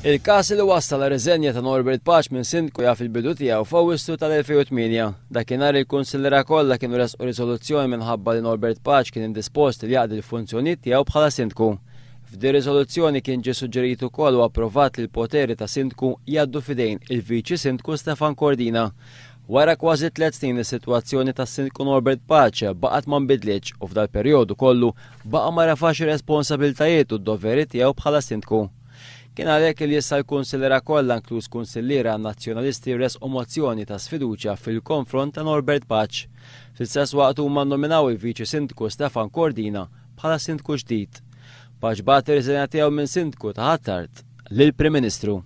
Il-każ li wassal għar-riżenja ta' Norbert Pace minn Sindku jaf il-bidu tiegħu f'Awwissu tal-2008. Dakinhar il-kunsilliera kollha kienu ressqu riżoluzzjoni minħabba li Norbert Pace kien indispost li jaqdi l-funzjonijiet tiegħu bħala Sindku. F'din riżoluzzjoni kien ġie suġġerit ukoll u approvat li l-poteri ta' Sindku jgħaddu f'idejn il-Viċi Sindku Stefan Cordina. Wara kważi tlett snin is-sitwazzjoni tas-Sindku Norbert Pace baqgħet ma nbidlitx u f'dal-perjodu kollu baqa' ma refax ir-responsabiltajiet u d-doveri tiegħu bħala Sindku. Kien għalhekk li issa l-kunsilliera kollha inkluż kunsilliera Nazzjonalisti ressqu mozzjoni ta' sfiduċja fil-konfront ta' Norbert Pace. Fl-istess waqt huma nnominaw il-Viċi Sindku Stefan Cordina bħala Sindku ġdid. Pace bagħat ir-riżenja tiegħu minn Sindku ta' Ħ'Attard lill-Prim Ministru.